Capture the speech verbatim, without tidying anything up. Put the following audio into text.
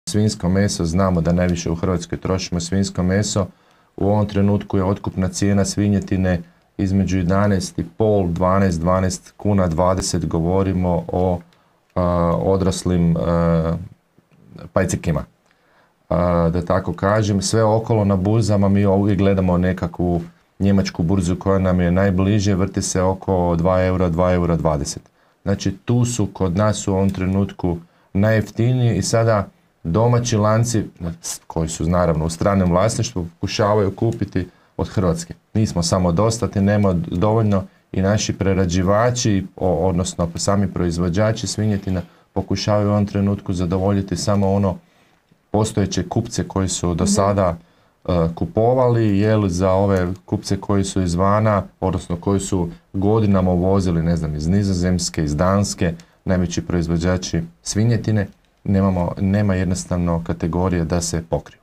Svinjsko meso, znamo da najviše u Hrvatskoj trošimo svinjsko meso. U ovom trenutku je otkupna cijena svinjetine između jedanaest i pol, dvanaest, dvanaest kuna dvadeset, govorimo o uh, odraslim uh, pajcekima. Uh, da tako kažem, sve okolo na burzama mi uvijek gledamo nekakvu njemačku burzu koja nam je najbliže, vrti se oko dva eura, dva eura dvadeset. Znači tu su kod nas u ovom trenutku najjeftiniji i sada domaći lanci, koji su naravno u stranom vlasništvu, pokušavaju kupiti od Hrvatske. Nismo samo dostatni, nema dovoljno i naši prerađivači, odnosno sami proizvođači svinjetina, pokušavaju u ovom trenutku zadovoljiti samo ono postojeće kupce koji su do sada uh, kupovali, jer za ove kupce koji su izvana, odnosno koji su godinama uvozili, ne znam, iz Nizozemske, iz Danske, najveći proizvođači svinjetine, nemamo, nema jednostavno kategorije da se pokriju.